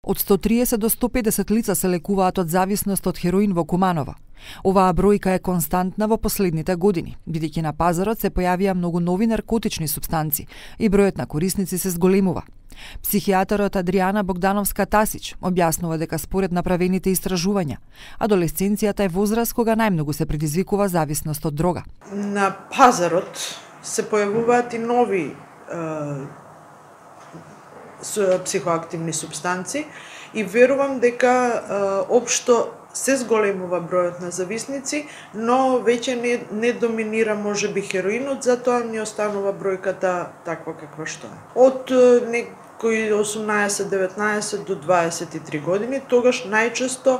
Од 130 до 150 лица се лекуваат од зависност од хероин во Куманово. Оваа бројка е константна во последните години, бидејќи на пазарот се појавија многу нови наркотични супстанци и бројот на корисници се зголемува. Психијатарот Адријана Богдановска-Тасич објаснува дека според направените истражувања, адолесценцијата е возраст кога најмногу се предизвикува зависност од дрога. На пазарот се појавуваат и нови психоактивни супстанци и верувам дека општо се зголемува бројот на зависници, но веќе не доминира можеби хероинот, затоа ни останува бројката таква каква што е. Од некои 18-19 до 23 години, тогаш најчесто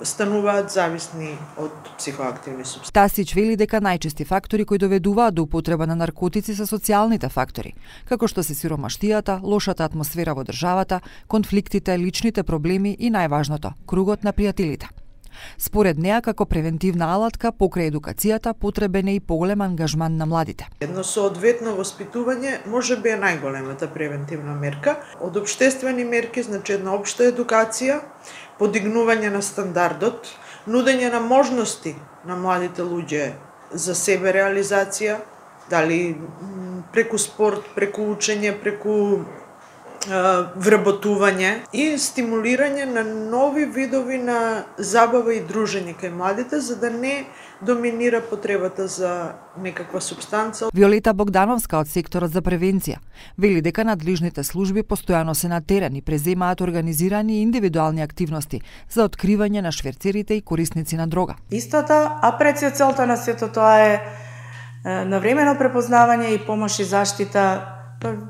стануваат зависни од психоактивни супстанци. Тасич вели дека најчести фактори кои доведуваат до употреба на наркотици се социјалните фактори, како што се сиромаштијата, лошата атмосфера во државата, конфликтите, личните проблеми и најважното, кругот на пријателите. Според неа, како превентивна алатка, покрај едукацијата, потребен е и поголем ангажман на младите. Едно соодветно воспитување можеби е најголемата превентивна мерка. Од општествени мерки, значи една општа едукација, подигнување на стандардот, нудење на можности на младите луѓе за себе реализација, дали преку спорт, преку учење, преку вработување и стимулирање на нови видови на забава и дружење кај младите, за да не доминира потребата за некаква супстанца. Виолета Богдановска од секторот за превенција вели дека надлежните служби постојано се на терен и преземаат организирани индивидуални активности за откривање на шверцерите и корисници на дрога. Истата, а пред се целта на сето тоа е навремено препознавање и помош и заштита.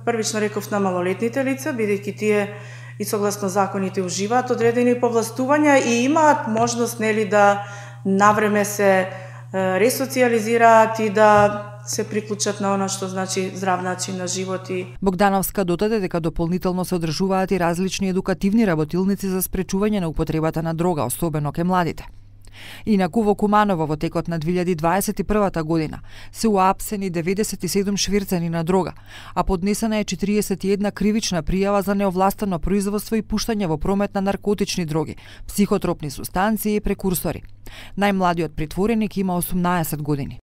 Првично реков на малолетните лица, бидејќи тие и согласно законите уживаат одредени повластувања и имаат можност да навреме се ресоциализираат и да се приклучат на она што значи здрав начин на живот. Богдановска додаде дека дополнително се одржуваат и различни едукативни работилници за спречување на употребата на дрога, особено кај младите. Инаку во Куманово во текот на 2021 година се уапсени 97 швирцани на дрога, а поднесена е 41 кривична пријава за неовластено производство и пуштање во промет на наркотични дроги, психотропни супстанции и прекурсори. Најмладиот притвореник има 18 години.